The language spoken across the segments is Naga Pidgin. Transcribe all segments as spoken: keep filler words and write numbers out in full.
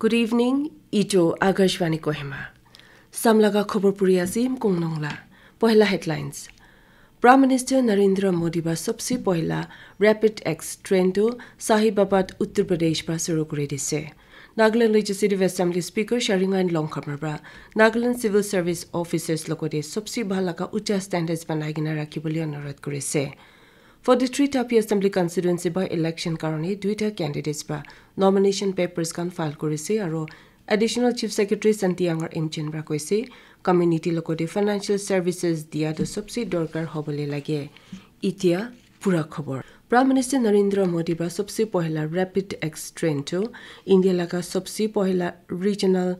Good evening, itu Akashvani Kohima. Samlaga khobor puri ase Yimkung Nongla. Pohela headlines. Prime Minister Narendra Modi ba sabse pohela Rapid X train tu Sahibabad, Uttar Pradesh ba shuru kuri dise. Nagaland Legislative Assembly Speaker Sharingain Longkhamar ba Nagaland Civil Service Officers logote sabse bhal laga ucha standards banai kena rakhibole anurodh kurise. Forty-three Tapi Assembly Constituency by election karone duita candidates ba nomination papers khan file kurise aro Additional Chief Secretary Santi Yangar Imchen ba koise, community logote financial services dia tu sabse dorkar hobole lage. Itia pura khobor. Prime Minister Narendra Modi ba sabse pohela Rapid X train tu India laga sabse pohela regional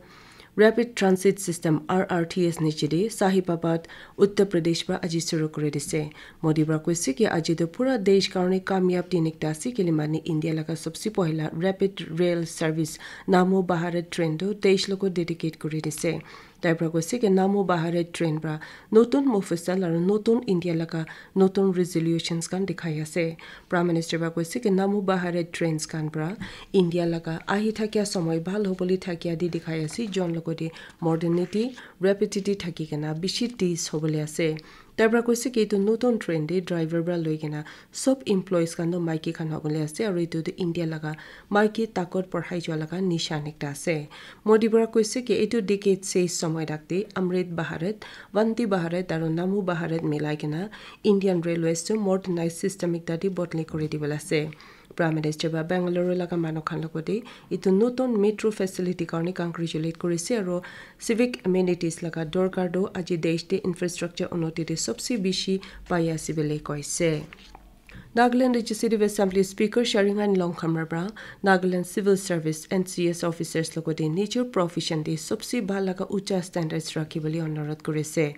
Rapid Transit System, R R T S, niche de Sahibabad, Uttar Pradesh pra aji shuru kuri dise. Modi pra koise ki aji tu pura desh karone kamyab din ekta ase, kile mane India laga sabse pohila Rapid Rail Service Namo Bharat train tu desh logo dedicate kuri dise. Tai pra koise ki Namo Bharat train pra notun Mofusal aru notun India laga notun resolutions khan dikhai ase. Prime Minister pra koise ki Namo Bharat trains khan pra India laga ahi thakia somoi bhal hobole thakia di dikhai ase, jon logote modernity, rapidity thaki kena bishi teez hobole ase. Tai pra koise ki etu notun train te driver pra loi kena sob employees khan toh maiki khan hobole ase, aru etu tu India laga maiki takot porhai jua laga nishan ekta ase. Modi pra koise ki etu decade seis somoi rakte Amrit Bharat, Vande Bharat aru Namo Bharat milai kena Indian Railways tu modernized system ekta te bodli kuri dibole ase. Prime Minister pra Bengaluru laga manu khan logote etu notun metro facility karone congratulate kurise aru civic amenities laga dorkar tu aji desh te infrastructure unnoti te sobse bishi pai ase bole koise. Nagaland Legislative Assembly Speaker Sharingain Longkhamar pra Nagaland Civil Service, N C S, officers logote nijor profession te sobse bhal laga ucha standards rakhibole anurodh kurise.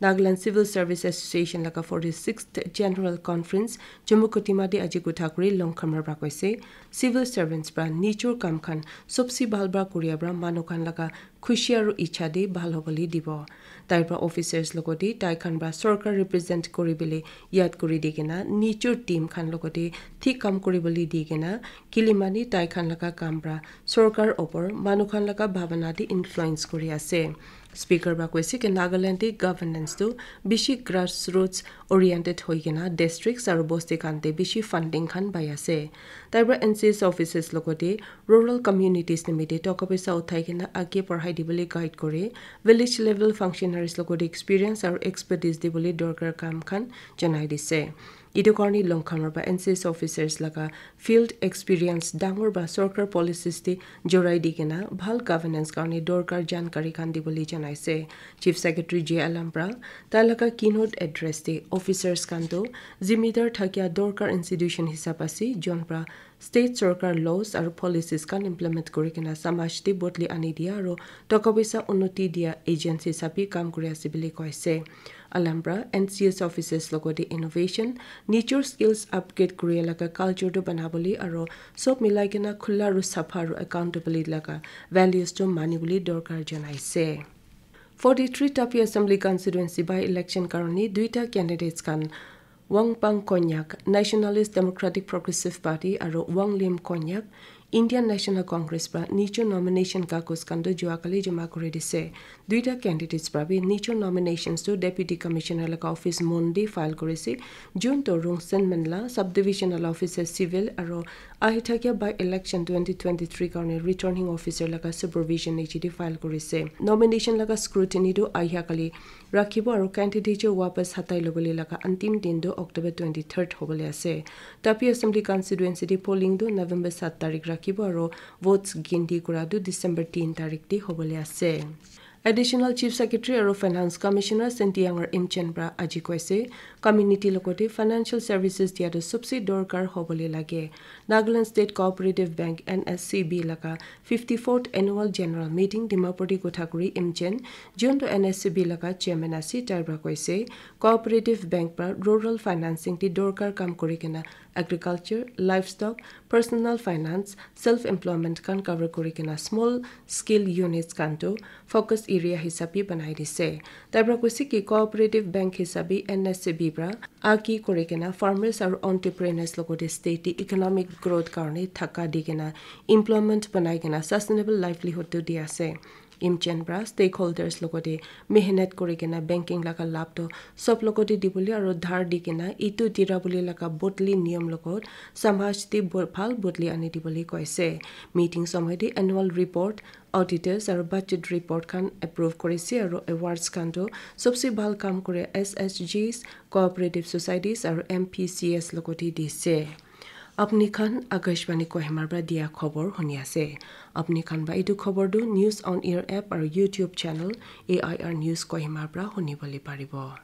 Nagaland Civil Service Association laga forty-sixth General Conference Jammu Kohima te aji kotha kuri Longkhamar pra koise, civil servants pra nijor kam khan sobse bhal pra kuria pra manu khan laga khushi aru ichha te bhal hobole dibo. Tai pra officers logote tai khan pra sorkar represent kuri bole yad kuri di kena nijor team khan logote thik kam kuri bole di kena kile mane tai khan laga kam pra sorkar opor manu khan laga bhabana te influence kuri ase. Speaker pra koise ki Nagaland te governance tu bishi grassroots oriented hoi kena districts aru bosti khan te bishi funding khan pai ase. Tai pra N C S offices logote rural communities nimite toka paisa uthai kena age porhai dibole guide kore, village level functionaries logote experience aru expertise dibole dorkar kam khan janai dise. Etu karone Longkhamar pra N C S officers laga field experience dangor pra sorkar policies te jorai di kena bhal governance karone dorkar jankari khan dibole janaise. Chief Secretary J Alam pra tai laga keynote address te officers khan toh zimidar thakia dorkar institution hisab ase, jon pra state sorkar laws aru policies khan implement kuri kena samaj te bodli ani dia aru toka paisa unnoti dia agency hisabe kam kuri ase bole koise. Alam pra N C S officers logote innovation, nijor skills upgrade kuri laga culture tu banabole aru sob milai kena khula aru sapha aru accountability laga values tu mani bole dorkar janaise. Forty-three Tapi Assembly Constituency by election karone duita candidates khan Wangpang Konyak, Nationalist Democratic Progressive Party, aru Wanglim Konyak, Indian National Congress pra nijor nomination kagoz khan tu jua kali joma kuri dise. Duita candidates pra bi nijor nominations tu Deputy Commissioner laga office mon te file kurise, jon tu Rongsen Menla, Subdivisional Officer Civil aru ahi thakia by election twenty twenty-three karone returning officer laga supervision niche te file kurise. Nomination laga scrutiny tu ahi kali rakhibo aru candidature wapas hatai lobole laga antim din tu October twenty-third hobole ase. Tapi Assembly Constituency te polling tu November saat tarik rakhibo aru votes ginti kura tu December tin tarik te hobole ase. Additional Chief Secretary aru Finance Commissioner Sentiyangar Imchen pra aji koise, community logote financial services dia tu sobse dorkar hobole lage. Nagaland State Cooperative Bank, N S C B, laga fifty-fourth Annual General Meeting Dimapur te kotha kuri Imchen, jon tu N S C B laga chairman ase, tai pra koise, Cooperative Bank pra rural financing te dorkar kam kuri kena agriculture, livestock, personal finance, self employment khan cover kuri kena small scale units khan tu focus area hisabi banai dise. Tai pra koise ki cooperative bank hisabi N S C B pra aki kuri kena farmers aru entrepreneurs logote state te economic growth karne thaka di kena employment banai kena sustainable livelihood tu di ase. Imchen pra stakeholders logote mehnat kuri kena banking laga lab to sob logote dibole aru dhar di kena itu dira bole laga bodli niyam logot samaj te bo- bhal bodli ani dibole koise. Meeting somoy te annual report, auditors aru budget report khan approve korise aru awards khan to sobse bhal kam kore S H Gs, cooperative societies aru M P C S logote dise. Apni khan Akashvani Kohima pra dia khobor huni ase. Apni khan ba etu khobor tu News on Air app aru YouTube channel A I R News Kohima pra huni bole paribo.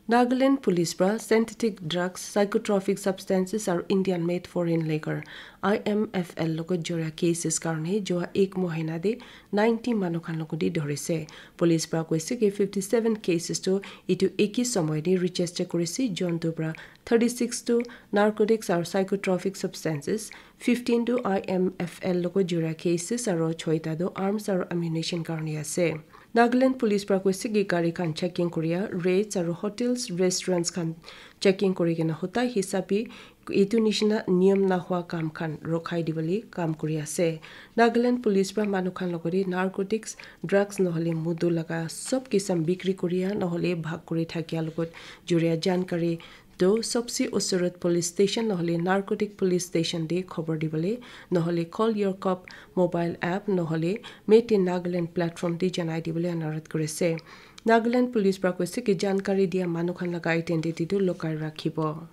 Nagaland Police pra synthetic drugs, psychotropic substances aru Indian made foreign liquor, I M F L logot joria cases karne joa ek mohina de ninety manu khan logot de dhorise. Police pra koise ki fifty seven cases to itu eki somoy de register korise, jontu pra thirty six to narcotics aru psychotropic substances, fifteen to I M F L logot joria cases aru choita to arms aru ammunition karne ase. Nagaland Police pra koise ki gari khan checking koria, raids aru hotels, restaurants khan checking kuri kena hotai hisabi itu nishina niyam nahua kam khan rokhai dibole kam kuri ase. Nagaland Police pra manu khan logote narcotics, drugs nohole mudu laga sob kisam bikri koria nohole bhag kuri thakia logot joria jankari to sobse usurot police station nohole narcotic police station de khobor dibole nohole Call Your Cop mobile app nohole Made in Nagaland platform de janai dibole anurodh korise. Nagaland Police pra koise ki jankari dia manu khan laga identity tu lukai rakhibo.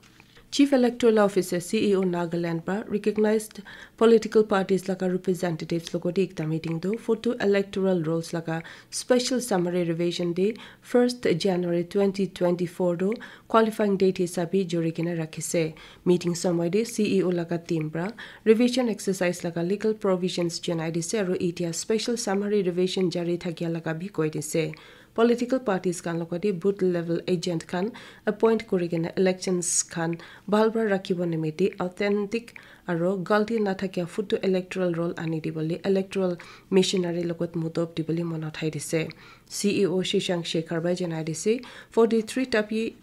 Chief Electoral Officer, C E O Nagaland pra recognized political parties laga representatives logote ekta meeting tu photo electoral rolls laga special summary revision de first January twenty twenty-four tu qualifying date hisabi jori kena rakhise. Meeting somoy de C E O laga team pra revision exercise laga legal provisions janai dise aru etia special summary revision jari thakia laga bi koi dise. Political parties khan logote booth level agent khan appoint kuri kena elections khan bhal pra rakhibo nimite authentic aru galti nathakia photo electoral roll ani dibole electoral machinery logot mudop dibole mon uthai dise. C E O Shashank Shekhar bai janai dise, forty three Tapi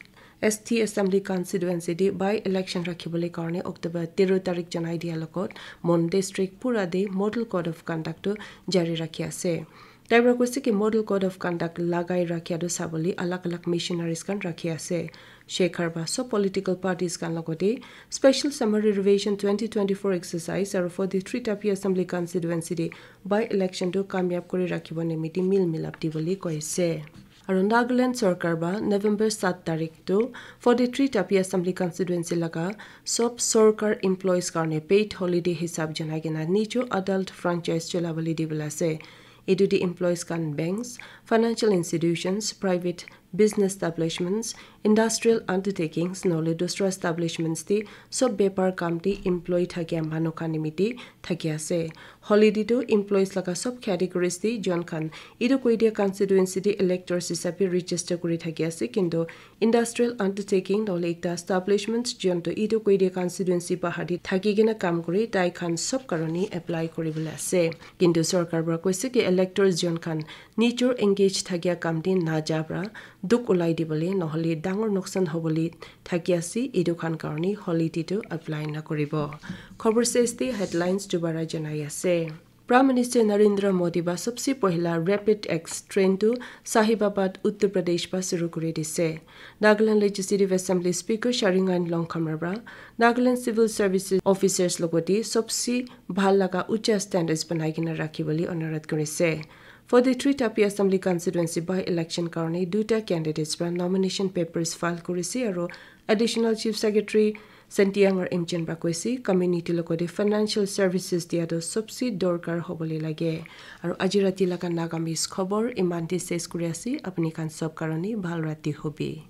S T Assembly Constituency de by election rakhibole karne October tero tarik janai dia logot Mon District pura de Model Code of Conduct tu jari rakhi ase. Tai pra koise ki Model Code of Conduct lagai rakhia tu sabole alag alag missionaries khan rakhi ase. Shekhar ba sob political parties khan logote special summary revision twenty twenty-four exercise aru forty three Tapi Assembly Constituency de by election tu kamyab kuri rakhibo nimite mil milap dibole koise. Aru Nagaland sorkar ba November sat tarik tu forty three Tapi Assembly Constituency laga sob sorkar employees karne paid holiday hisab janai kena nijo adult franchise cholabole dibole ase. Etu de employees khan banks, financial institutions, private business establishments, industrial undertakings nohole dusra establishments de sob bepar kam de employee thakia manu khan nimite thaki ase. Holiday tu employees laga sob categories de jon khan etu koi dia constituency de electors hisabe register kuri thaki ase, kintu industrial undertaking nohole ekta establishment jontu etu koi dia constituency bahar te thaki kena kam kuri tai khan sob karone apply kuri bole ase. Kintu sorkar para koise ki electors jon khan nijor engage thakia kam te naja para dukh ulai dibole nohole dangor noksan hobole thaki ase, etu khan karone holiday tu apply nakuribo. Khobor ses te headlines dubara janai ase. Prime Minister Narendra Modi ba sabse pohila Rapid X train tu Sahibabad, Uttar Pradesh pa shuru kuri dise. Nagaland Legislative Assembly Speaker Sharingain Longkhamra pra Nagaland Civil Services Officers logote sabse bhal laga ucha standards banai kena rakhi bole anurodh kurise. Forty three Tapi Assembly Constituency by election karone duita candidates pra nomination papers file kurise aru Additional Chief Secretary Sentiang aru Imchen pra koise, community logote financial services dia tu sabse dorkar hobole lage. Aru aji rati laga Nagamese khobor iman te ses kuri ase, apni khan sob karone bhal rati hobi.